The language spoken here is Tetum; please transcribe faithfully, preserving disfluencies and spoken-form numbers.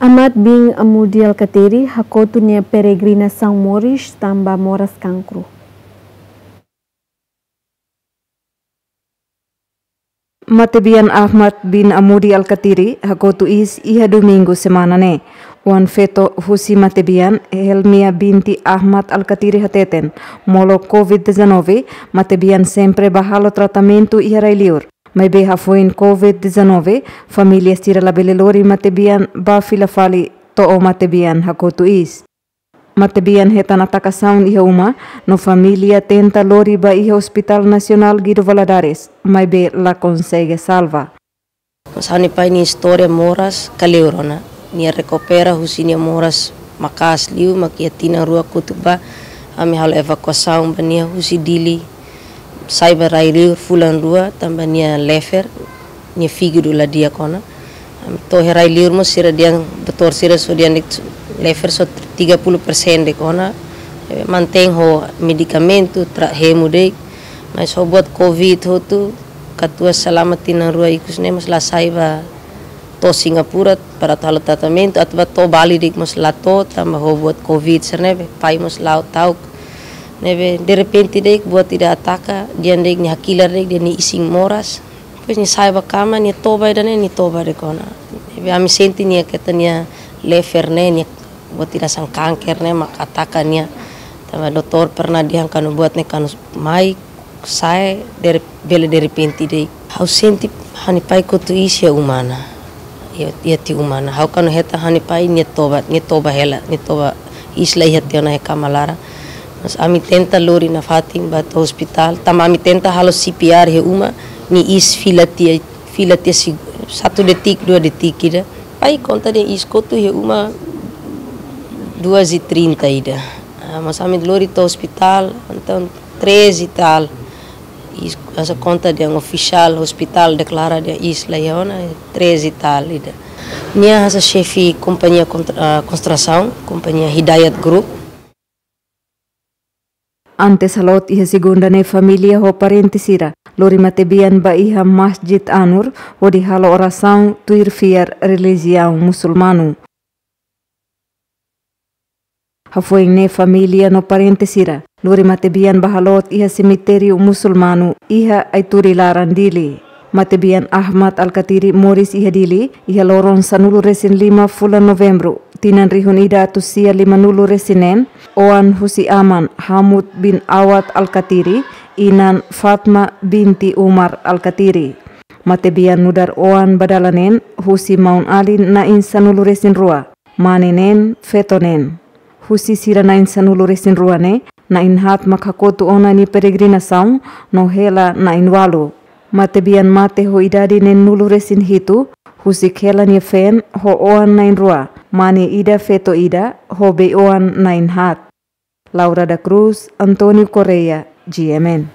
Ahmad bin Amudi Alkatiri hakotu nia peregrinasaun moris tanba moras kankru. Matebian Ahmad bin Amudi Alkatiri hakotu iis iha Domingu semana ne'e. Oan-feto husi matebian, Helmia binti Ahmad Alkatiri hateten, molok covid dezanove, matebian sempre bá halo tratamentu iha rai-liur. Maibé hafoin covid dezanove, família sira labele lori matebian bá fila fali to'o matebian hakotu iis. Matebian hetan atakasaun iha uma, no família tenta lori bá iha Hospital Nasionál Guido Valadares, maibé la konsege salva. Mas ha'u-nia pai nia istória moras kleur ona. Nia rekupera husi nia moras maka'as liu, mak iha tinan rua kotuk bá, ami halo evakuasaun ba nia husi Dili, sai ba rai-liur fulan rua, tanba nia lever, nia fígadu la di'ak ona. Ami to'o iha rai-liur mós sira dehan, doutór sira só dehan de'it lever só tiga puluh persen de'it ona. Eh, mantein ho medikamentu, tra-, hemu de'it. Mas ho buat covid hotu, katuas selama tinan rua ikus ne'e mós la sai bá to'o Singapura para atu halo tratamentu, atu bá to'o Bali de'it mós la to'o, tanba ho buat covid sira-ne'e, pai mós la'o ta'uk. Ne'ebé derrepente de'it buat ida ataka, dehan de'it nia hakilar de'it, dehan nia isin moras. Depois nia sai bá kama, nia toba ida-ne'e, nia toba de'it ona. Ne'ebé ami sente nia ketak nia lever ne'e, nia buat ida hanesan kanker ne'e mak ataka nia. Tanba doutór pernah dehan katak buat ne'e katak mai, sai, der-, bele derrepente de'it. Ha'u sente ha'u-nia pai kotu iis iha uma ona. Iha, iha tiha uma ona. Ha'u kuandu hetan ha'u-nia pai nia toba, nia toba hela, nia toba iis la iha tiha ona iha kama laran. Mas ami tenta lori nafatin bá to'o ospitál. Tanba ami tenta halo C P R iha uma, nia iis fila tiha, fila tiha seg-, satu detik, dua detik ida. Pai konta dehan iis kotu iha uma duas e trinta ida. Ah, mas ami lori to'o ospitál, entaun treze e tal. Iis, hanesan konta dehan ofisiál, ospitál deklara dehan iis la iha ona, treze e tal ida. Nia hanesan xefe kompañia kontra-, ah, konstrusaun, kompañia Hidayat Group. Antes haloot iha segunda ne'e, família ho parente sira lori matebian bá iha Masjid Anur, hodi halo orasaun tuir fiar relijiaun musulmanu. Hafoin ne'e família no parente sira lori matebian bá haloot iha semitériu musulmanu iha Aituri laran Dili. Matebian Ahmad Alkatiri moris iha Dili, iha loron sanulu-resin-lima fulan Novembru, tinan rihun ida atus sia limanulu-resin-neen, oan husi aman Hamud bin Awad Alkatiri, inan Fatma binti Umar Alkatiri. Matebian nu'udar oan ba dala neen husi maun-alin na'in sanulu-resin-rua, mane neen, feto neen. Husi sira na'in sanulu-resin-rua ne'e, na'in haat mak hakotu ona nia peregrinasaun, no hela na'in ualu. Matebian mate ho idade neenulu-resin-hitu, husik hela nia feen ho oan na'in rua, mane ida, feto ida, ho bei-oan na'in haat. Laura da Cruz, António Correia, G M N.